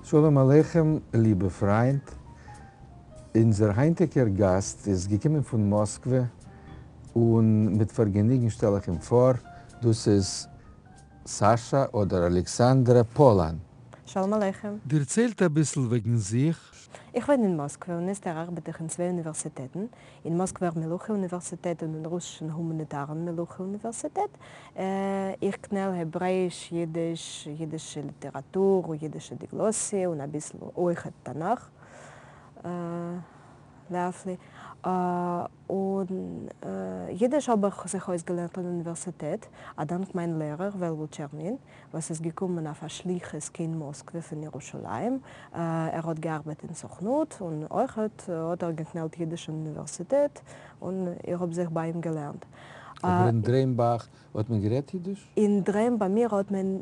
שלום עליכם ליבע פריינט, אונזער היינטיגער גאסט איז געקומען פון מאסקווע און מיט פארגעניגן שטעל איך אים פאר, דאס איז סאשא אדער אלעקסאנדרא פאלאן. שלום עליכם. דערציילט אביסל וועגן זיך. איך וואוין אין מאסקווע און איצטער ארבעט איך אין צוויי אוניווערסיטעטן, אין מאסקווער מלוכה אוניווערסיטעט און אין רוסישן הומאניטארן מלוכה אוניווערסיטעט. איך קנעל העברעאיש, יידיש, יידישע ליטעראטור, יידישע דיגלאסיע און אביסל אויכעט תנך. להפליא. און יידיש האב איך זיך אויסגעלערנט אין אוניווערסיטעט, א דאנק מיין לערער וועלוול טשערנין, וואס איז געקומען אויף א שליחות קיין מאסקווע פון ירושלים. ער האט געארבעט אין סוכנות און אויכעט האט ער געקנעלט יידיש אין אוניווערסיטעט און איך האב זיך ביי אים געלערנט. אבער אין דרעם ביי אייך האט מען גערעדט יידיש? אין דרעם ביי מיר האט מען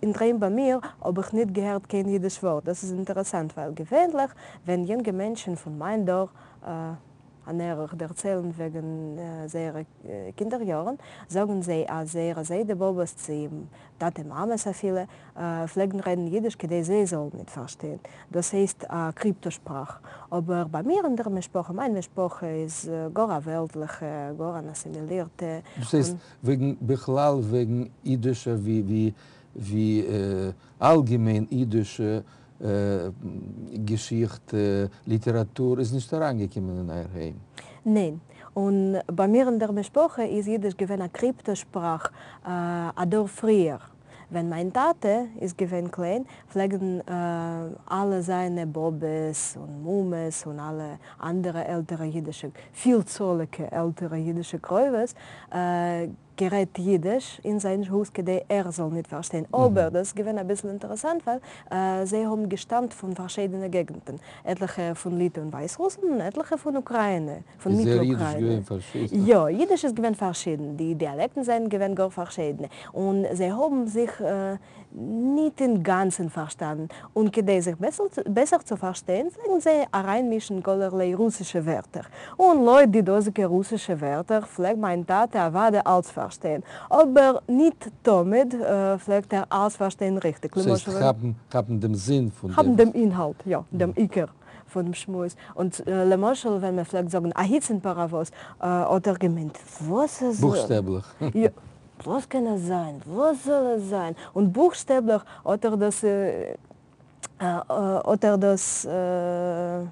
אין דרעם ביי מיר האב איך ניט געהערט קיין יידיש ווארט. דאס איז אינטערעסאנט, ווייל געווענליך ווען יונגע מענטשן פון מיין דור, אן ערך, דערציילן וועגן זייערע קינדער יארן, זאגן זיי אז זייערע זיידע באבעס צי טאטע מאמעס אפילו, פלעגן רעדן יידיש כדי זיי זאלן ניט פארשטיין. דאס הייסט א קריפטא שפראך. אבער ביי מיר אין דער משפחה, מיין משפחה איז גאר א וועלטליכע, גאר אן אסימילירטע. דאס הייסט וועגן בכלל וועגן אידישע ווי ווי אלגעמיין אידישע געשיכטע, ליטעראטור איז נישט אריינגעקומען אין אייער היים? ניין. און ביי מיר אין דער משפחה איז אידיש געווען א קריפטא שפראך א דור פריער. ווען מיין טאטע איז געווען קליין פלעגן אלע זיינע באבעס און מומעס און אלע אנדערע עלטערע אידישע, פילצאליגע עלטערע אידישע קרובות, גערעדט יידיש אין זיין הויז כדי ער זאל ניט פארשטיין, אבער דאס איז געווען אביסל אינטערעסאנט ווייל זיי האבן געשטאמט פון פארשיידענע געגנטן, עטליכע פון ליטע און ווייסרוסלאנד און עטליכע פון אוקראינע, פון איז זייער יידיש מיטל-אוקראינע. געווען פארשידן? יא, יידיש איז געווען פארשידן, די דיאלעקטן זענען געווען גאר פארשיידענע, און זיי האבן זיך ניט אין גאַנצן פֿאַרשטאַנען, און כּדי זיך בעסער צו פֿאַרשטיין, פֿלעגן זיי אַרײַנמישן כּלערליי רוסישע ווערטער. און לויט די דאָזיקע רוסישע ווערטער פֿלעג מײַן טאַטע אַוודאי אַלץ פֿאַרשטיין, אָבער ניט תּמיד פֿלעגט ער אַלץ פֿאַרשטיין ריכטיק. ס'הייסט, למשל, כאַפּן, כאַפּן דעם זין פֿון דעם. כאַפּן דעם אינהאַלט, יאָ, דעם עיקר פֿונעם שמועס. און, למשל, ווען מע פֿלעגט זאָגן אַ היצן פּאַראַוואָז, האָט ער געמיינט, וואָס אַזוי? בוכשטעבלעך. יאָ. וואס קען עס זיין? וואס זאל עס זיין? און בוכשטעבליך האט ער דאס האט ער דאס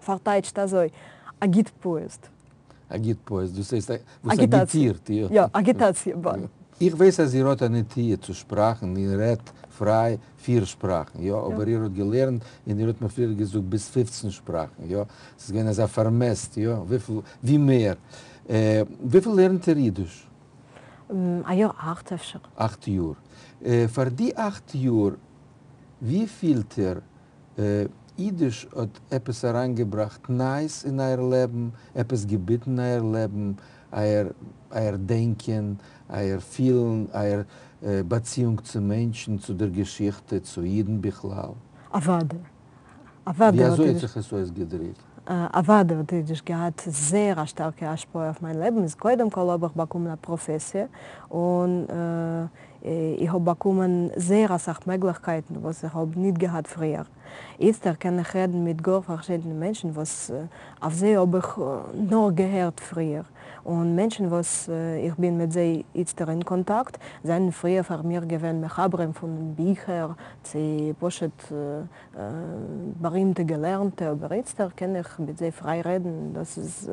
פארטייטשט אזוי, אגיטפאיעזד. אגיטפאיעזד, דאס הייסט וואס אגיטאציע. אגיטירט, יא. יא, אגיטאציע באן. איך ווייס אז איר האט א נטיה צו שפראכן, איר רעדט פריי פיר שפראכן, יא, אבער איר האט געלערנט און איר האט מיר פריער געזאגט ביז 15 שפראכן, יא, ס'איז געווען אזא פארמעסט, יא, וויפיל, ווי מער. וויפיל לערנט איר אידיש? א יאר אכט אפשר. 8 יאר. פאר די 8 יאר, ווי פילט איר, אידיש האט עפעס אריינגעבראכט נייעס אין אייער לעבן, עפעס געביטן אין אייער לעבן, אייער דענקען, אייער פילן, אייער באציאונג צו מענטשן, צו דער געשיכטע, צו אידן בכלל? אוודאי. אוודאי ווי האט אזוי האט אידיש זיך עס אויסגעדריקט? אוודאי האט אידיש געהאט זייער א שטארקע השפעה אויף מיין לעבן. איז קודם כל האב איך באקומען א פראפעסיע און איך האב באקומען זייער אסאך מעגליכקייטן וואס איך האב ניט געהאט פריער. איצטער קען איך רעדן מיט גאר פארשידענע מענטשן וואס אויף זיי האב איך נאר געהערט פריער, און מענטשן וואס איך בין מיט זיי איצטער אין קאנטאקט זענען פריער פאר מיר געווען מחברים פון ביכער צי פשוט בארימטע געלערנטע, אבער איצטער קען איך מיט זיי פריי רעדן, דאס איז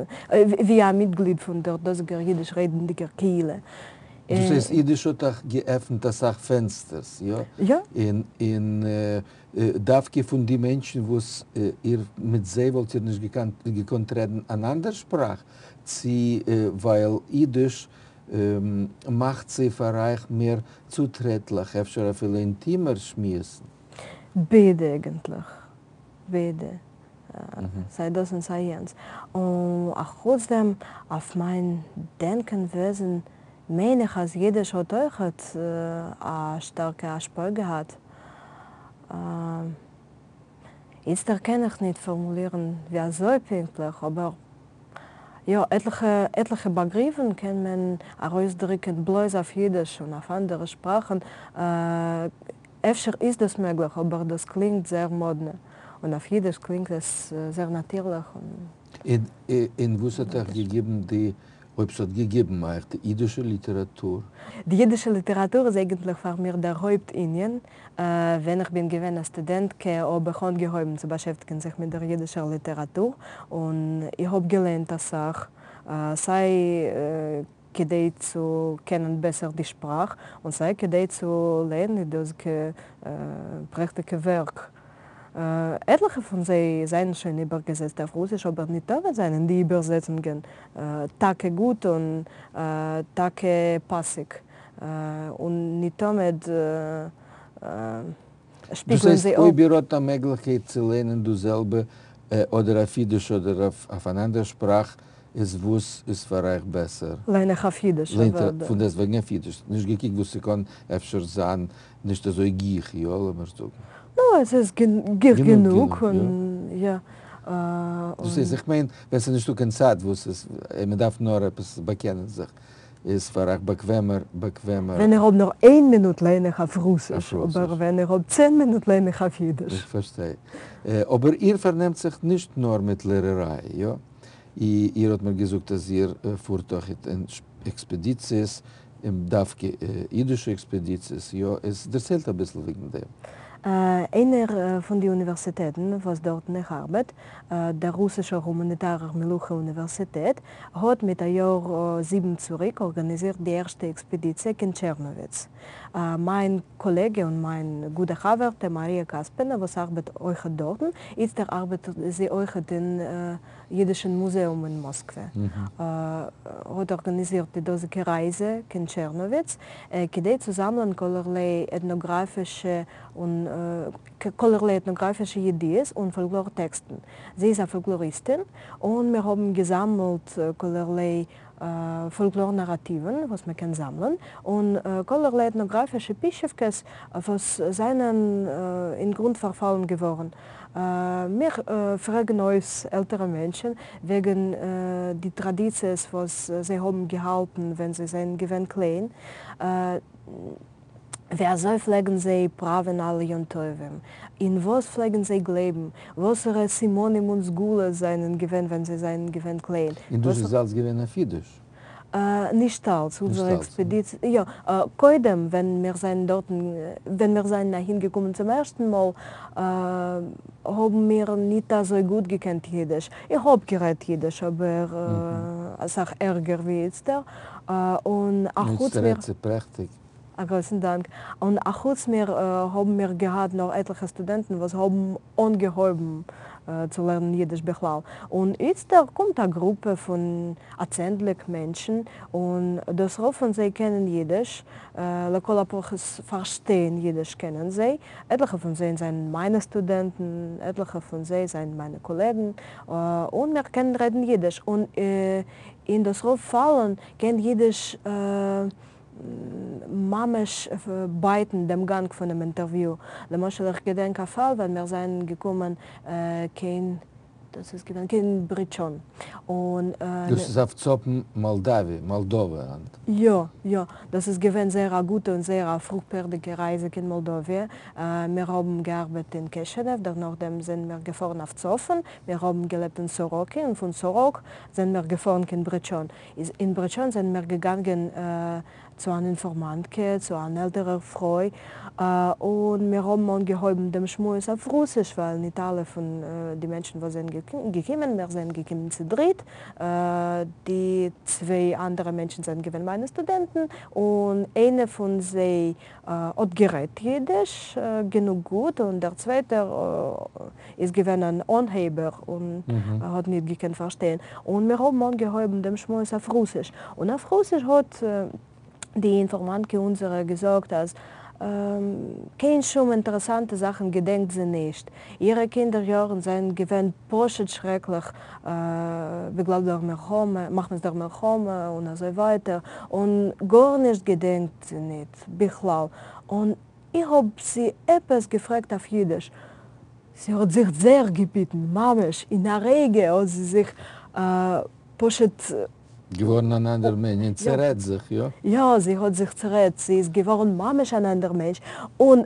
ווי א מיטגליד פון דער דאזיגער אידיש רעדנדיגער קהילה. דאס הייסט אידיש האט אייך געעפנט אסאך פענסטערס, יא? יא. און דווקא פון די מענטשן וואס איר מיט זיי וואלט איר נישט געקאנט רעדן אן אנדער שפראך, צי ווייל אידיש מאכט זיי פאר אייך מער צוטרעטליך, אפשר אפילו אינטימער שמועסן? ביידע אייגנטליך. ביידע. סיי דאס און סיי יענץ. און אחוץ דעם, אויף מיין דענקען וועזן, מיין איך אז אידיש האט אויכעט א שטארקע השפעה געהאט. איצטער קען איך ניט פארמולירן ווי אזוי פונקטליך, אבער יא, עטליכע באגריפן קען מען ארויסדריקן בלויז אויף אידיש און אויף אנדערע שפראכן. אפשר איז דאס מעגליך, אבער דאס קלינגט זייער מאדנע, און אויף אידיש קלינגט עס זייער נאטירליך און. און וואס האט אייך געגעבן די, אויב ס'האט געגעבן אייך, די אידישע ליטעראטור? די אידישע ליטעראטור איז אייגנטליך פאר מיר דער הויפט ענין. ווען איך בין געווען א סטודענטקע האב איך אנגעהויבן צו באשעפטיגן זיך מיט דער אידישער ליטעראטור, און איך האב געלייענט אסאך, סיי כדי צו קענען בעסער די שפראך, און סיי כדי צו לייענען די דאזיגע פרעכטיגע ווערק. עטליכע פון זיי זענען שוין איבערגעזעצט אויף רוסיש, אבער ניט תמיד זענען די איבערזעצונגען טאקע גוט און טאקע פאסיג, און ניט תמיד דאס שפיגלען הייסט זיי אפ. אויב איר האט א מעגליכקייט צו לערנען דאס זעלבע אדער אויף אידיש אדער אויף אן אנדער שפראך, איז וואס איז פאר אייך בעסער? לייען איך אויף אידיש לייענט איר אוודאי. פון דעסטוועגן אויף אידיש, נישט געקוקט וואס ס'קען אפשר זיין נישט אזוי גיך, יא לאמיר זאגן. נו, עס איז גיך גענוג גענוג גענוג, יא. און יא. דאס איז, און. איך מיין ווען ס'איז נישטא קיין צייט וואס איז, מ'דארף נאר עפעס באקענען זיך, איז פאר אייך באקוועמער באקוועמער. ווען איך האב נאר איין מינוט לייען איך אויף אויף רוסיש, אבער רוסיש. ווען איך האב 10 מינוט לייען איך אויף איך אידיש. פארשטיי. אבער איר פארנעמט זיך נישט נאר מיט לערעריי, יא? איר האט מיר געזאגט אז איר פארט אויך אין עקספעדיציעס, און דווקא אידישע עקספעדיציעס, יא? איז דערציילט אביסל וועגן דעם. איינער פון די אוניווערסיטעטן וואס דארטן איך ארבעט, דער רוסישער הומאניטארער מלוכה אוניווערסיטעט, האט מיט א יאר 7 צוריק ארגאניזירט די ערשטע עקספעדיציע קיין טשערנאוויץ. מיין קאלעגע און מיין גוטע חבר'טע מאריא קאספינא וואס ארבעט אויכעט דארטן, איצטער ארבעט זי אויכעט אין יידישן מוזעאום אין מאסקווע, האט ארגאניזירט די דאזיגע רייזע קיין טשערנאוויץ, כדי צו זאמלען כלערליי עטנאגראפישע און כלערליי עטנאגראפישע ידיעות און פאלקלאר טעקסטן. זי איז א פאלקלאריסטין, און מיר האבן געזאמלט כלערליי פאלקלאר נאראטיוון וואס מען קען זאמלען, און כלערליי עטנאגראפישע פישעווקעס וואס זענען אין גרונט פארפאלן געווארן. מיר פרעגן אויס עלטערע מענטשן וועגן די טראדיציעס וואס זיי האבן געהאלטן ווען זיי זענען געווען קליין, ווי אזוי פלעגן זיי פראווען אלע יום טובים, אין וואס פלעגן זיי גלייבן, וואסערע סימנים און סגולות זענען געווען ווען זיי זענען געווען קליין. און דאס איז אלץ געווען אויף אידיש? נישט אלץ, נישט אונזערע אלץ. עקספעדיציע, יא, קודם ווען מיר זענען דארטן, ווען מיר זענען אהין געקומען צום ערשטן מאל, האבן מיר ניט אזוי גוט געקענט אידיש. איך האב גערעדט אידיש, אבער אסאך ערגער ווי איצטער, און אחוץ איצטער מיר. רעדט זי פרעכטיג. א גרויסן דאנק. און אחוץ מיר האבן מיר געהאט נאך עטליכע סטודענטן וואס האבן אנגעהויבן צו לערנען אידיש בכלל. און איצטער קומט א גרופע פון א צענדליג מענטשן, און דאס רוב פון זיי קענען אידיש, לכל הפחות פארשטיין אידיש קענען זיי. עטליכע פון זיי זענען מיינע סטודענטן, עטליכע פון זיי זענען מיינע קאלעגן, און מיר קענען רעדן אידיש. און אין דאס רוב פאלן קען אידיש ממש בייטן דעם גאנג פונעם אינטערוויו. למשל איך געדענק א פאל ווען מיר זענען געקומען קיין, דאס איז געווען קיין בריטשאן, און. דאס איז אויף צפון מאלדאווי, מאלדאווע היינט. יא, יא, דאס איז געווען זייער א גוטע און זייער א פרוכפערדיגע רייזע קיין מאלדאוויע. מיר האבן געארבעט אין קעשענעוו, דערנאכדעם זענען מיר געפארן אויף צפון, מיר האבן געלעבט אין סאראקי, און פון סאראק זענען מיר געפארן קיין בריטשאן. איז אין בריטשאן זענען מיר געגאנגען צו אן אינפארמאנטקע, צו אן עלטערער פרוי, און מיר האבן אנגעהויבן דעם שמועס אויף רוסיש, ווייל ניט אלע פון די מענטשן וואס זענען געקומען, מיר זענען געקומען צו דריט, די צוויי אנדערע מענטשן זענען געווען מיינע סטודענטן, און איינע פון זיי האט גערעדט אידיש גענוג גוט, און דער צווייטער איז געווען אן אנהייבער און האט ניט געקענט פארשטיין, און מיר האבן אנגעהויבן דעם שמועס אויף רוסיש, און אויף רוסיש האט די אינפארמאנטקע אונזערע געזאגט אז קיין שום אינטערעסאנטע זאכן געדענקט זי נישט, אירע קינדער יארן זענען געווען פשוט שרעקליך בגלל דער מלחמה, מחמת דער מלחמה און אזוי ווייטער, און גארנישט געדענקט זי ניט בכלל, און איך האב זי עפעס געפרעגט אויף אידיש, זי האט זיך זייער געביטן, ממש אין א רגע האט זי זיך פשוט. געווארן אן אנדער מענטש און צערעדט זיך, יא? יא, זי האט זיך צערעדט, זי איז געווארן ממש אן אנדער מענטש, און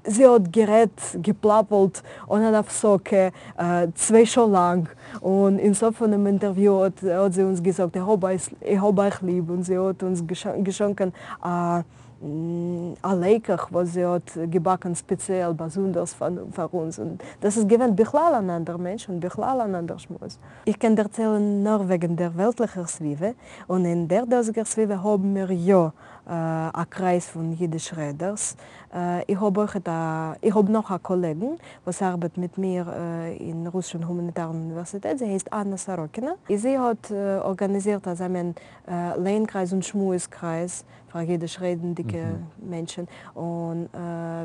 זי האט גערעדט, געפלאפלט אן אן הפסקה צוויי שעה לאנג, און אין סוף פונעם אינטערוויו האט האט זי אונז געזאגט איך האב איך האב אייך ליב, און זי האט אונז געשאנקען א א לעקעך וואס זי האט געבאקן ספעציעל באזונדערס פאר אונז, און דאס איז געווען בכלל אן אנדער מענטש און בכלל אן אנדער שמועס. איך קען דערציילן נאר וועגן דער וועלטליכער סביבה, און אין דער דאזיגער סביבה האבן מיר יא א קרייז פון אידיש רעדערס. איך האב אויכעט א, איך האב נאך א קאלעגן וואס ארבעט מיט מיר אין רוסישן הומאניטארן אוניווערסיטעט, זי הייסט אנא סאראקינא. זי האט ארגאניזירט אזא מין לייען-קרייז און שמועס-קרייז פאר אידיש רעדנדיקע מענטשן, און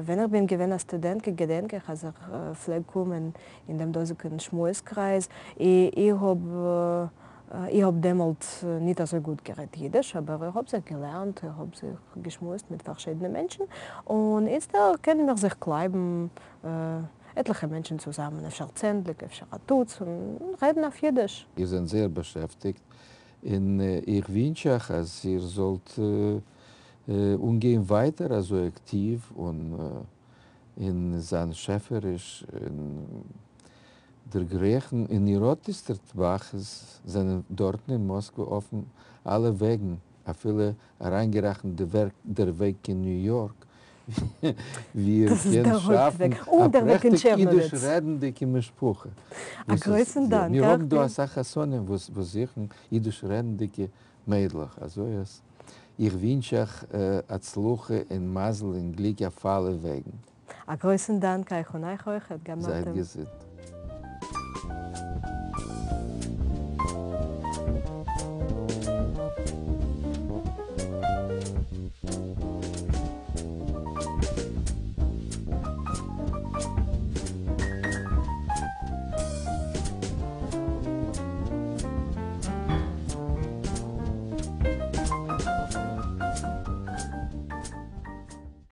ווען איך בין געווען א סטודענטקע געדענק איך אז איך פלעג קומען אין דעם דאָזיקן שמועס-קרײַז. איך האָב, איך האָב דעמאָלט ניט אַזוי גוט גערעדט ייִדיש, אָבער איך האָב זיך געלערנט, איך האָב זיך געשמועסט מיט פֿאַרשיידענע מענטשן, און איצטער קענען מיר זיך קלײַבן עטלעכע מענטשן צוזאַמען, אפֿשר צענדליק, אפֿשר אַ טוץ, און רעדן אויף ייִדיש. איר זענט זייער באַשעפֿטיקט, און איך ווינטש אײַך, אַז איר זאָלט אָנגיין ווײַטער אַזוי אַקטיוו און און זײַן שעפֿעריש און דערגרייכן אין איר אָט איצטערט באַך זענען דאָרטן אין מאָסקווע אָפֿן אַלע וועגן, אַפֿילו אַרײַנגערעכנט די ווערק דער וועג קיין ניו-יאָרק, וווּ איר קענט שאַפֿן אַ פּרעכטיק ייִדיש-רעדנדיקע משפּחה. אַ גרויסן דאַנק. מיר האָבן דאָ אַ סך חתנים וואָס זוכן ייִדיש-רעדנדיקע מיידלעך, אַזוי אַז איך ווינטש אייך הצלחה און מזל און גליק אויף אלע וועגן. א גרויסן דאנק אייך און אייך אויכעט, גמרתם. זייט געזונט.